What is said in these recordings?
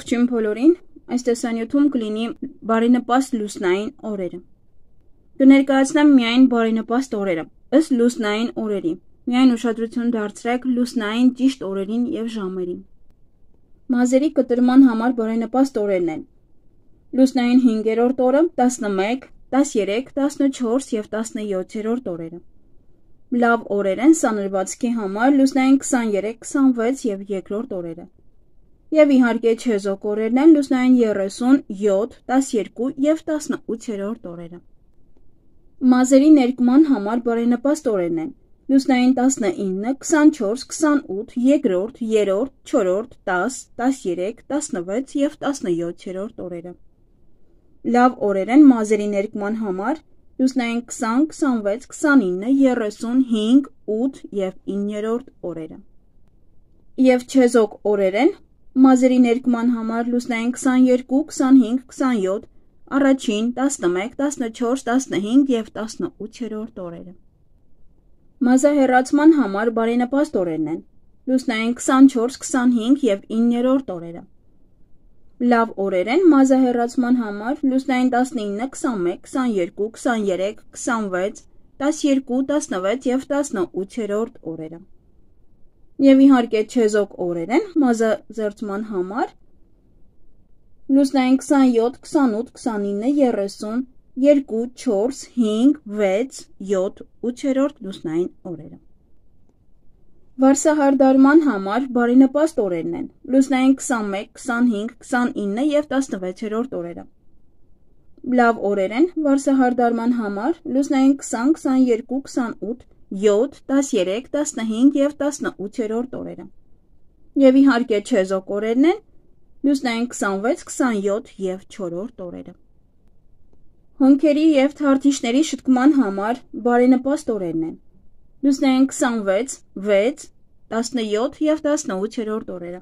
Ողջույն բոլորին, այս տեսանյութում կլինի բարենպաստ լուսնային օրերը։ Կներկայացնեմ միայն բարենպաստ օրերը, ըստ լուսնային օրերի, միայն ուշադրություն դարձրեք լուսնային ճիշտ օրերին և ժամերին։ Մազերի կտրման համար բարենպաստ օրերն են լուսնային 5-րդ օրը, 11, 13, 14 և 17-րդ օրերը։ Լավ օրեր են սանրվածքի համար լուսնային 23, 26 և երկրորդ օրերը։ Եվ իհարկե չեզոք օրերն են լուսնային 30, 7, 12 և 18-րդ օրերը։ Մազերի ներկման համար բարենպաստ օրերն են լուսնային 19, 24, 28, երկրորդ, 3-րդ, 4-րդ, 10, 13, 16 և 17-րդ օրերը։ Լավ օրեր են մազերի ներկման համար լուսնային 20, 26, 29, 30, 5, 8 և 9-րդ օրերը։ Եվ չեզոք օրեր են մազերի ներկման համար լուսնային 22, 25, 27, առաջին, 11, 14, 15 և 18-րդ օրերը։ Մազահեռացման համար բարենպաստ օրերն են լուսնային 24, 25 և 9-րդ օրերը։ Լավ օրեր են մազահեռացման համար լուսնային 19, 21, 22, 23, 26, 12, 16 և 18-րդ օրերը։ Եվ իհարկե չեզոք օրեր են մազազերծման համար լուսնային 27, 28, 29, 30, 2, 4, 5, 6, 7, 8-րդ լուսնային օրերը։ Վարսահարդարման համար բարենպաստ օրերն են լուսնային 21, 25, 29 և 16-րդ օրերը։ Լավ օրեր են վարսահարդարման համար լուսնային 20, 22, 28, 7, 13, 15 և 18-րդ օրերը։ Եվ իհարկե չեզոք օրերն են լուսնային 26, 27 և 4-րդ օրերը։ Հոնքերի և թարթիշների շտկման համար բարենպաստ օրերն են լուսնային 26, 6, 17 և 18-րդ օրերը։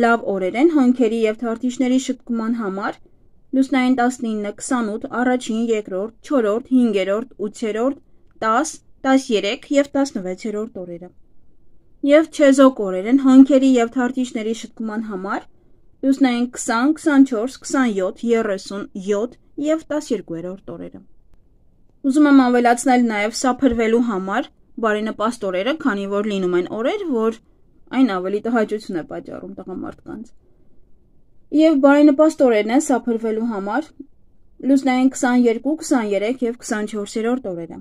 Լավ օրեր են հոնքերի և թարթիշների շտկման համար լուսնային 19, 28, առաջին, երկրորդ, 4-րդ, 5-րդ, 8-րդ, 10, 13 և 16-րդ օրերը։ Եվ չեզոք օրեր են հոնքերի և թարթիշների շտկման համար լուսնային 20, 24, 27, 37 և 12-րդ օրերը։ Ուզում եմ ավելացնել նաև սափրվելու համար բարենպաստ օրերը, քանի որ լինում են օրեր, որ այն ավելի տհաճություն է պատճառում տղամարդկանց։ Եվ բարենպաստ օրերն են սափրվելու համար լուսնային 22, 23 և 24-րդ օրերը։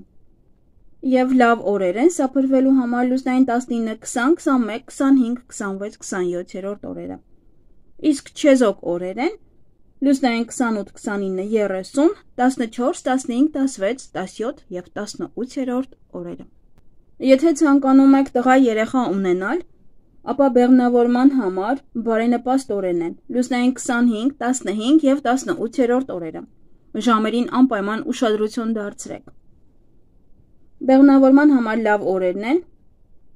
Եվ լավ օրեր են սափրվելու համար լուսնային 19, 20, 21, 25, 26, 27-րդ օրերը։ Իսկ չեզոք օրեր են լուսնային 28, 29, 30, 14, 15, 16, 17 և 18-րդ օրերը։ Եթե ցանկանում եք տղա երեխա ունենալ, ապա բեղմնավորման համար բարենպաստ օրերն են լուսնային 25, 15 և 18-րդ օրերը։ Ժամերին անպայման ուշադրություն դարձրեք։ Բեղմնավորման համար լավ օրերն են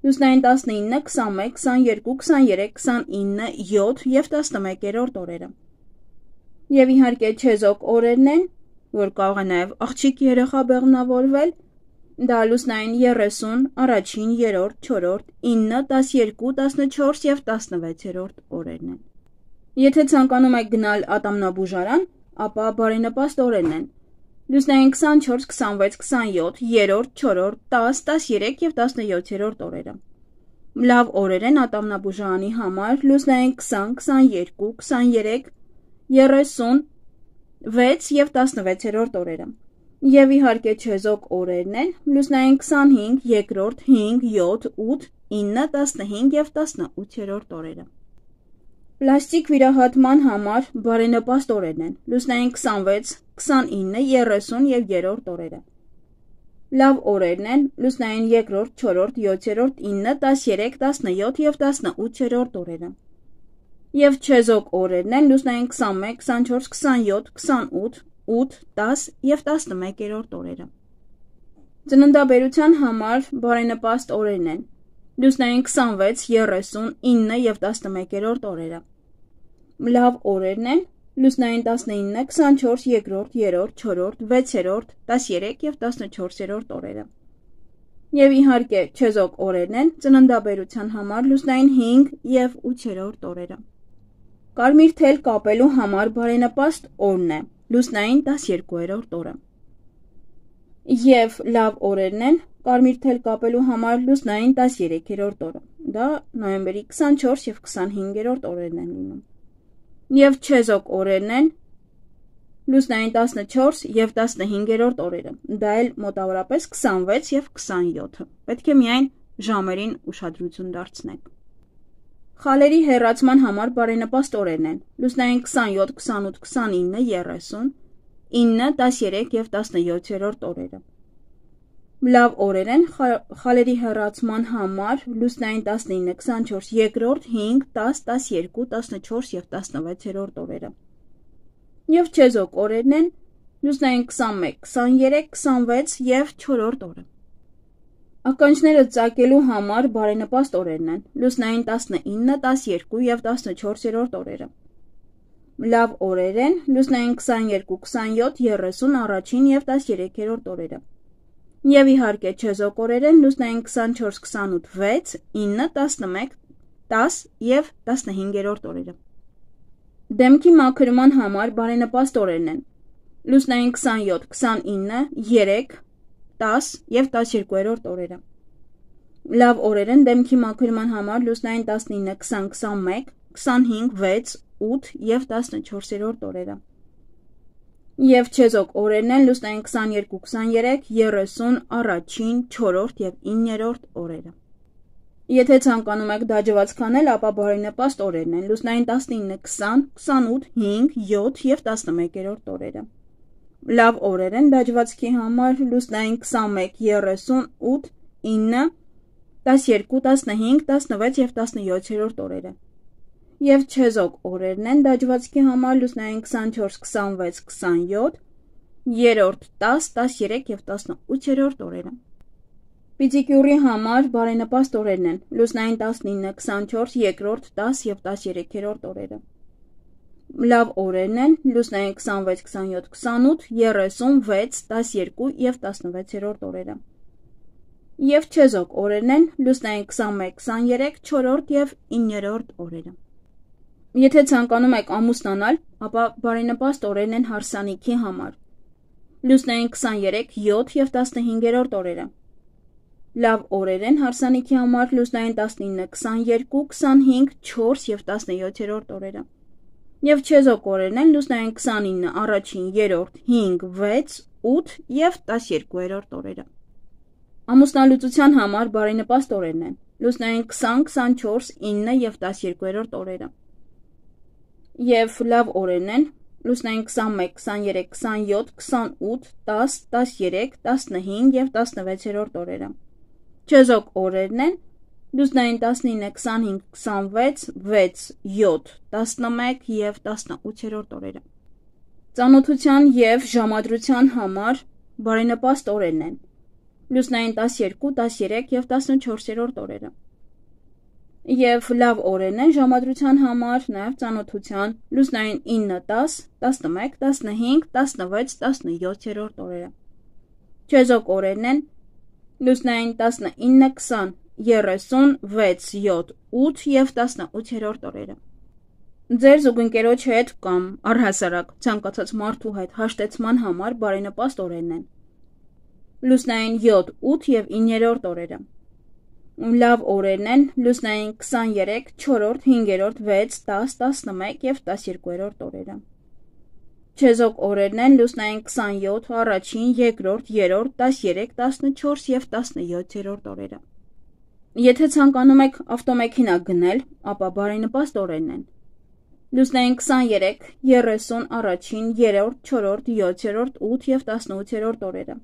լուսնային 19, 21, 22, 23, 29, 7 և 11-րդ օրերը։ Եվ իհարկե չեզոք օրերն են, որ կարող է նաև աղջիկ երեխա բեղմնավորվել, դա լուսնային 30, առաջին, 3-րդ, 4-րդ, 9, 12, 14 և 16-րդ օրերն են։ Եթե ցանկանում եք գնալ ատամնաբուժարան, ապա բարենպաստ օրերն են լուսնային 24, 26, 27, 3-րդ, 4-րդ, 10, 13 և 17-րդ օրերը։ Լավ օրեր են ատամնաբուժարանի համար լուսնային 20, 22, 23, 36 և 16-րդ օրերը։ Եվ իհարկե չեզոք օրերն են լուսնային 25, 2-րդ, 5, 7, 8, 9, 15 և 18-րդ օրերը։ Պլաստիկ վիրահատման համար բարենպաստ օրերն են լուսնային 26, 29, 30 և 3-րդ օրերը։ Լավ օրերն են լուսնային 2-րդ, 4-րդ, 7-րդ, 9, 13, 17 և 18-րդ օրերը։ Եվ չեզոք օրերն են լուսնային 21, 24, 27, 28, 8, 10 և 11-րդ օրերը։ Ծննդաբերության համար բարենպաստ օրերն են լուսնային 26, 30, 9 և 11-րդ օրերը։ Լավ օրերն են լուսնային 19, 24, 2-րդ, 3-րդ, 4-րդ, 6-րդ, 13 և 14-րդ օրերը։ Եվ իհարկե չեզոք օրերն են ծննդաբերության համար լուսնային 5 և 8-րդ օրերը։ Կարմիր թել կապելու համար բարենպաստ օրն է, լուսնային 12-րդ օրը։ Եվ լավ օրերն են կարմիր թել կապելու համար լուսնային 13-րդ օրը։ Դա նոյեմբերի 24 և 25-րդ օրերն են լինում։ Եվ չեզոք օրերն են լուսնային 14 և 15-րդ օրերը։ Դա էլ մոտավորապես 26 և 27-ը։ Պետք է միայն ժամերին ուշադրություն դարձնեք։ Խալերի հեռացման համար բարենպաստ օրերն են լուսնային 27, 28, 29, 30, 9, 13 և 17-րդ օրերը։ Լավ օրեր են խալերի հեռացման համար լուսնային 19, 24, 2, 5, 10, 12, 14 և 16-րդ օրերը։ Եվ չեզոք օրերն են լուսնային 21, 23, 26 և 4-րդ օրը։ Ականջները ծակելու համար բարենպաստ օրերն են լուսնային 19, 12 և 14-րդ օրերը։ Լավ օրեր են լուսնային 22, 27, 30, առաջին և 13-րդ օրերը։ Եվ իհարկե չեզոք օրեր են լուսնային 24, 28, 6, 9, 11, 10 և 15-րդ օրերը։ Դեմքի մաքրման համար բարենպաստ օրերն են լուսնային 27, 29, 3, 10 և 12-րդ օրերը։ Լավ օրեր են դեմքի մաքրման համար լուսնային 19, 20, 21, 25, 6, 8 և 14-րդ օրերը։ Եվ չեզոք օրերն են լուսնային 22, 23, 30, առաջին, 4-րդ և 9-րդ օրերը։ Եթե ցանկանում եք դաջվածք անել, ապա բարենպաստ օրերն են լուսնային 19, 20, 28, 5, 7 և 11-րդ օրերը։ Լավ օրեր են դաջվածքի համար լուսնային 21, 30, 8, 9, 12, 15, 16 և 17-րդ օրերը։ Եվ չեզոք օրերն են դաջվածքի համար լուսնային 24, 26, 27, 3, 10, 13 և 18-րդ օրերը։ Պիդիկյուրի համար բարենպաստ օրերն են լուսնային 19, 24, 2, 10 և 13-րդ օրերը։ Լավ օրերն են լուսնային 26, 27, 28, 36, 12 և 16-րդ օրերը։ Եվ չեզոք օրերն են լուսնային 21, 23, 4-րդ և 9-րդ օրերը։ Եթե ցանկանում եք ամուսնանալ, ապա բարենպաստ օրերն են հարսանիքի համար լուսնային 23, 7 և 15-րդ օրերը։ Լավ օրեր են հարսանիքի համար լուսնային 19, 22, 25, 4 և 17-րդ օրերը։ Եվ չեզոք օրերն են լուսնային 29, առաջին, 3, 5, 6, 8 և 12-րդ օրերը։ Ամուսնալուծության համար բարենպաստ օրերն են լուսնային 20, 24, 9 և 12-րդ օրերը։ Եվ լավ օրերն են լուսնային 21, 23, 27, 28, 10, 13, 15 և 16-րդ օրերը։ Չեզոք օրերն են լուսնային 19, 25, 26, 6, 7, 11 և 18-րդ օրերը։ Ծանոթության և ժամադրության համար բարենպաստ օրերն են լուսնային 12, 13 և 14-րդ օրերը։ Եվ լավ օրերն են ժամադրության համար նաև ծանոթության լուսնային 9, 10, 11, 15, 16, 17-րդ օրերը։ Չեզոք օրերն են լուսնային 19, 20, 30, 6, 7, 8 և 18-րդ օրերը։ Ձեր զուգընկերոջ հետ կամ առհասարակ ցանկացած մարդու հետ հաշտեցման համար բարենպաստ օրերն են լուսնային 7, 8 և 9-րդ օրերը։ Լավ օրերն են լուսնային 23, 4-րդ, 5-րդ, 6, 10, 11 և 12-րդ օրերը։ Չեզոք օրերն են լուսնային 27, առաջին, 2-րդ, 3-րդ, 13, 14 և 17-րդ օրերը։ Եթե ցանկանում եք ավտոմեքենա գնել, ապա բարենպաստ օրերն են լուսնային 23, 30, առաջին, 3-րդ, 4-րդ, 7-րդ, 8 և 18-րդ օրերը։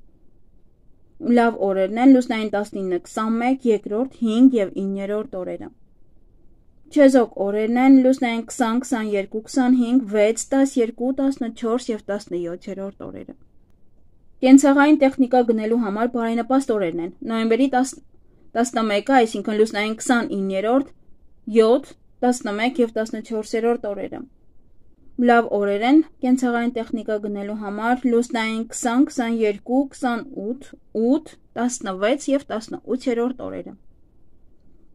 Լավ օրերն են լուսնային 19, 21, 2-րդ, 5 և 9-րդ օրերը։ Չեզոք օրերն են լուսնային 20, 22, 25, 6, 12, 14 և 17-րդ օրերը։ Կենցաղային տեխնիկա գնելու համար բարենպաստ օրերն են նոյեմբերի 11-ը, այսինքն լուսնային 29-րդ, 7, 11 և 14-րդ օրերը։ Լավ օրեր են կենցաղային տեխնիկա գնելու համար լուսնային 20, 22, 28, 8, 16 և 18-րդ օրերը։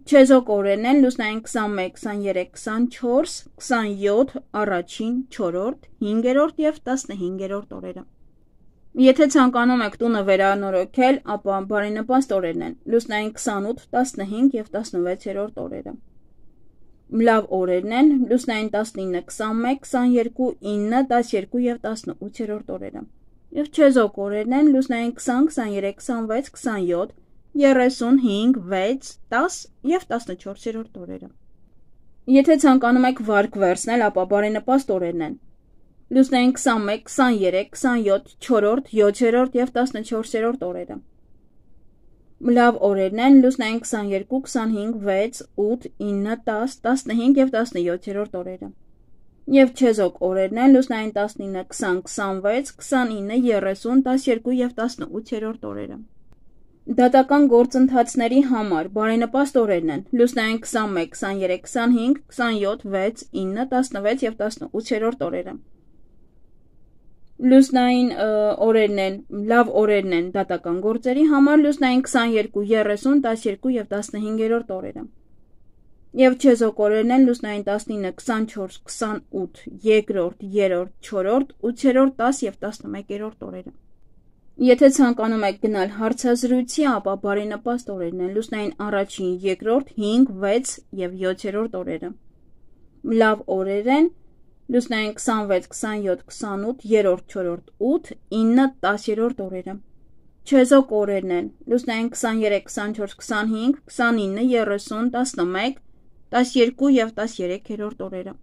Չեզոք օրերն են լուսնային 21, 23, 24, 27, առաջին, 4-րդ, 5-րդ և 15-րդ օրերը։ Եթե ցանկանում եք տունը վերանորոգել, ապա բարենպաստ օրերն են լուսնային 28, 15 և 16-րդ օրերը։ Լավ օրերն են լուսնային 19, 21, 22, 9, 12 և 18-րդ օրերը։ Եվ չեզոք օրերն են լուսնային 20, 23, 26, 27, 35, 6, 10 և 14-րդ օրերը։ Եթե ցանկանում եք վարկ վերցնել, ապա բարենպաստ օրերն են լուսնային 21, 23, 27, 4-րդ, 7-րդ և 14-րդ օրերը։ Լավ օրերն են լուսնային 22, 25, 6, 8, 9, 10, 15 և 17-րդ օրերը։ Եվ չեզոք օրերն են լուսնային 19, 20, 26, 29, 30, 12 և 18-րդ օրերը։ Դատական գործընթացների համար բարենպաստ օրերն են լուսնային 21, 23, 25, 27, 6, 9, 16 և 18-րդ օրերը։ Լուսնային օրերն են, լավ օրերն են դատական գործերի համար լուսնային 22, 30, 12 և 15-րդ օրերը։ Եվ չեզոք օրերն են լուսնային 19, 24, 28, 2-րդ, 3-րդ, 4-րդ, 8-րդ, 10 և 11-րդ օրերը։ Եթե ցանկանում եք գնալ հարցազրույցի, ապա բարենպաստ օրերն են լուսնային առաջին, 2-րդ, 5, 6 և 7-րդ օրերը։ Լավ օրեր են լուսնային 26, 27, 28, 3-րդ, 4-րդ, 8, 9, 10-րդ օրերը։ Չեզոք օրերն են լուսնային 23, 24, 25, 29, 30, 11, 12 և 13-րդ օրերը։